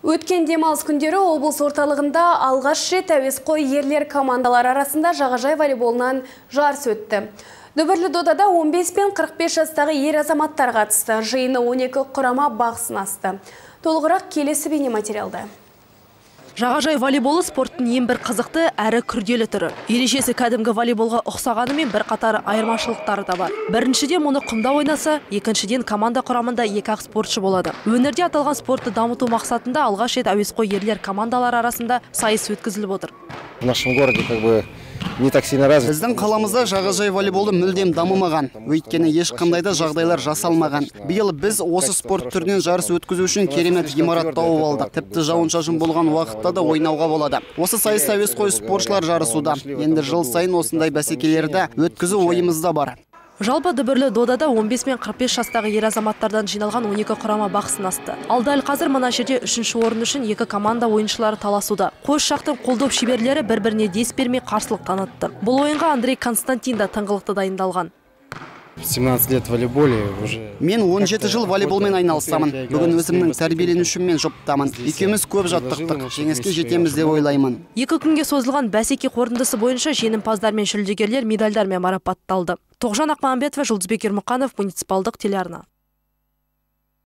Өткен демалыс күндері облыс орталығында алғаш рет әуесқой ерлер командалар арасында жағажай волейболынан жарыс өтті. Дүбірлі додада 15 пен 45 жастағы ер азаматтар қатысты. Жиыны 12 құрама бақ сынасты. Толығырақ келесі бейнематериалда. Жағажай волейболы спорттың ең бір қызықты әрі күрделі түрі. Ережесі кәдімгі волейболға ұқсағанымен бір қатар айырмашылықтары да бар. Біріншіден мұны құмда ойнаса, екіншіден команда құрамында екі-ақ спортшы болады. Өңірде аталған спортты дамыту мақсатында алғаш рет әуесқой ерлер командалар арасында сайыс өткізіліп отыр. В нашем городе не так сильно развит. Біздің қаламызда жағажай волейболы мүлдем дамымаған. Өйткені ешқандай да жағдайлар жасалмаған. Биыл біз осы спорт түрінен жарыс өткізу үшін керемет ғимарат тауып алдық. Тіпті жауын-шашын болған уақытта да ойнауға болады. Осы сайыс әуесқой спортшылар жарысуда. Енді жыл сайын осындай бәсекелерді өткізу ойымызда бар. Жалпы дүбірлі додада 15 мен 45 жастағы ер азаматтардан жиналған 12 құрама бақ сынасты. Ал дәл қазір мына жерде 3-ші орын үшін екі команда ойыншылары таласуда. Қос жақтың қолдоп шеберлері бір-біріне дес бермей қарсылық танытты. Бұл ойынға Андрей Константин да тыңғылықты дайындалған. 17 лет в волейболе уже. Мен 17 жыл волейболмен айналысамын. Бүгін өзімнің тәрбиеленушіммен жұптамын. Екеуміз көп жаттықтық. Жеңіске жетеміз деп ойлаймын. Екі күнге созылған бәсеке қорытындысы бойынша жеңімпаздар мен жүлдегерлер медальдармен марапатталды. Тоғжан Ақмағамбетова, Жұлдызбек Ермұқанов, муниципалдық телеарна.